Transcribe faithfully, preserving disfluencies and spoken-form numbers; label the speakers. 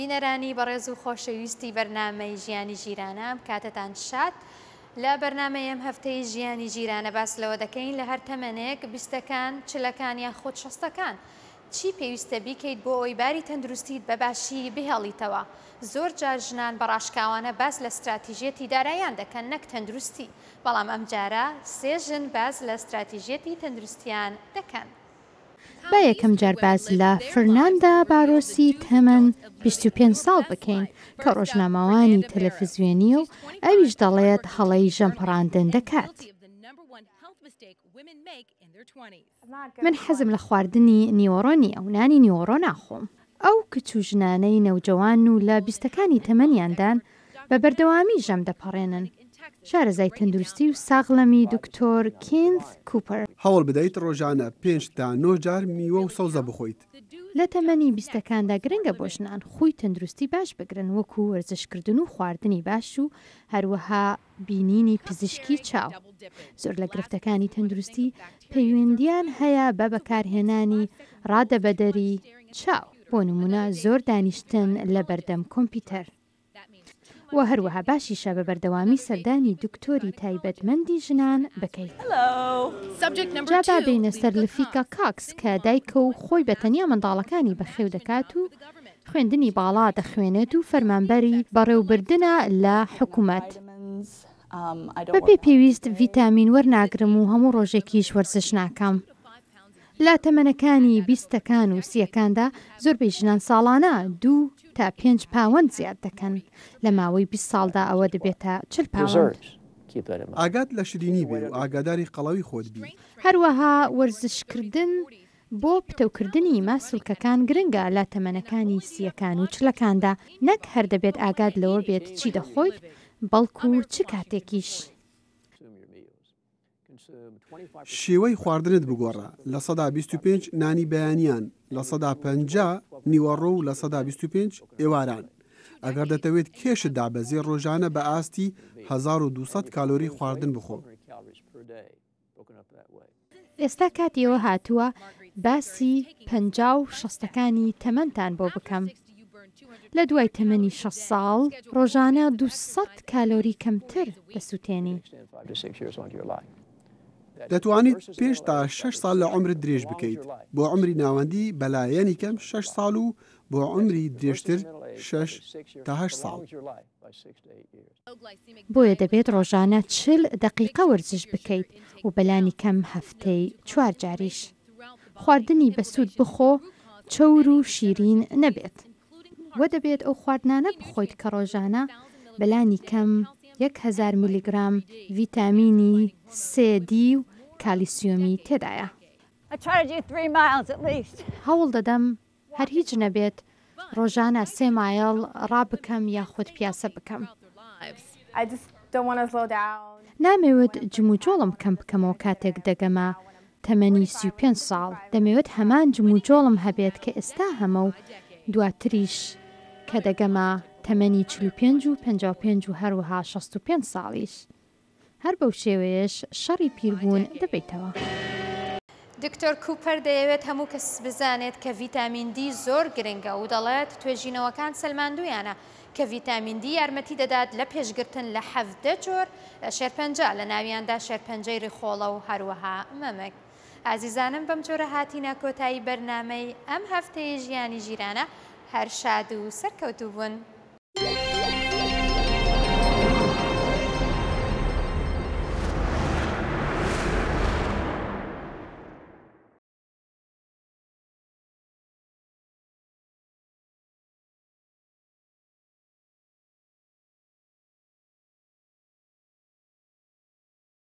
Speaker 1: بینەرانی بەڕێز و خۆشەویستی بەرنامەی ژیانی ژیرانە، ئەم کاتەتان شاد. لە بەرنامەی ئەم هەفتەی ژیانی ژیرانە باس لەوە دەکەین لە هەر تەمەنێک، بیستەکان، چلەکان یاخود شەستەکان، چی پێویستە بیکەیت بۆ ئەوەی باری تەندروستیت بە باشی بهێڵیتەوە. زۆر جار ژنان بە ڕاشکاوانە باس لە ستراتیژیەتی داراییان دەکەن نەک تەندروستی، بەڵام ئەمجارە سێ ژن باس لە ستراتیژیەتی تەندروستیان دەکەن.
Speaker 2: با یەکەم جار باس لە فرناندا بارۆسی تەمەن بیست و پێنج ساڵ بکەین کە ڕۆژنامەوانی تەلەفزیۆنییە و ئەویش دەڵێت هەڵەی ژەمپەڕاندن دەکات. من حەزم لە خواردنی نیوەڕۆ نییە و نانی نیوەڕۆ ناخۆم. ئەو کچ و ژنانەی نەوجەوان و لە بیستەکانی تەمەنیاندان بە بەردەوامی ژەم دەپەڕێنن. شارەزای تەندروستی و ساغڵەمی دکتۆر کینث کوپەر.
Speaker 3: هەوڵ بدەیت ڕۆژانە پێنج تا نۆ جار میوە و سەوزە بخۆیت.
Speaker 2: لە تەمەنی بیستەکاندا گرنگە بۆ ژنان خووی تەندروستی باش بگرن وەکو وەرزشکردن و خواردنی باش و هەروەها بینینی پزیشکی چاو. زۆر لە گرفتەکانی تەندروستی پەیوەندیان هەیە بە بەکارهێنانی ڕادەبەدەری چاو، بۆ نمونە زۆر دانیشتن لە بەردەم کۆمپیوتەر. و هەروەها باشیشە بە بەردەوامی سەردانی دکتۆری تایبەتمەندی ژنان بکەیت. جا با بێینە سەر لفیکا کاکس کە دایکە و خۆی بە تەنیا منداڵەکانی بەخێو دەکات و خوێندنی باڵا دەخوێنێت و فەرمانبەری بەڕێوبردنە لە حکومەت. بەپێی پێویست ڤیتامین وەرناگرم و هەموو ڕۆژێکیش وەرزش ناکەم. لە تەمەنەکانی بیستەکان و سییەکاندا زۆربەی ژنان ساڵانە دوو تا پێنج پاوەند زیاد دەکەن. لە ماوەی بیست ساڵدا ئەوە دەبێتە چل پاوەند.
Speaker 3: ئاگات لە شیرینی بێ و ئاگاداری قەڵەوی خۆت بی.
Speaker 2: هەروەها وەرزشکردن بۆ پتەوکردنی ماسولکەکان گرنگە لە تەمەنەکانی سییەکان و چلەکاندا. نەک هەر دەبێت ئاگات لەوە بێت چی دەخۆیت، بەڵکو چ کاتێکیش.
Speaker 3: شێوەی خواردنت بگۆڕە، لە سەدا بیست و پێنج نانی بەیانیان، لە سەدا پەنجا نیوەڕۆ و لە سەدا بیست و پێنج ئێواران. ئەگەر دەتەوێت کێشت دابەزێ ڕۆژانە بە ئاستی هەزار و دوو سەد کالۆری خواردن بخۆ.
Speaker 2: ئێستا کاتی ئەوە هاتووە باسی پەنجا و شەستەکانی تەمەنتان بۆ بکەم. لە دوای تەمەنی شەست ساڵ ڕۆژانە دوو سەد کالۆری کەمتر دەسووتێنی.
Speaker 3: دەتوانیت پێنج تا شەش ساڵ لە عومرت درێژ بکەیت. بۆ عومری ناوەندی بەلایەنی کەم شەش ساڵ و بۆ عومری درێژتر شەش تا هەشت ساڵ.
Speaker 2: بۆیە دەبێت ڕۆژانە چل دەقیقە وەرزش بکەیت و بەلانی کەم هەفتەی چوار جاریش. خواردنی بەسوود بخۆ، چەور و شیرین نەبێت. وە دەبێت ئەو خواردنانە بخۆیت کە ڕۆژانە بەلانی کەم یەک هەزار میلیگرام ڤیتامینی سێ، دی و کالیسیۆمی تێدایە. هەوڵ دەدەم هەر هیچ نەبێت ڕۆژانە سێ مایڵ ڕابکەم یاخود پیاسە بکەم. نامەوێت جموجۆڵم کەم بکەمەوە کاتێک دەگەمە تەمەنی سی و پێنج ساڵ، دەمەوێت هەمان جموجۆڵم هەبێت کە ئێستا هەمە و دواتریش کە دەگەمە تەمەنی چل و پێنج و پەنجا و پێنج و هەروەها شەست و پێنج ساڵیش. هەر بەو شێوەیەش شەڕی پیربوون دەبەیتەوە.
Speaker 1: دکتۆر کوپەر دەیەوێت هەموو کەس بزانێت کە ڤیتامین دی زۆر گرنگە و دەڵێت توێژینەوەکان سەلماندویانە کە ڤیتامین دی یارمەتی دەدات لە پێشگرتن لە حەڤدە جۆر شێرپەنجە، لە ناویاندا شێرپەنجەی ڕیخۆڵە و هەروەها مەمک. ئازیزانم بەم جۆرە هاتینە کۆتایی بەرنامەی ئەم هەفتەیە ژیانی ژیرانە. هەر شاد و سەرکەوتوو بوون.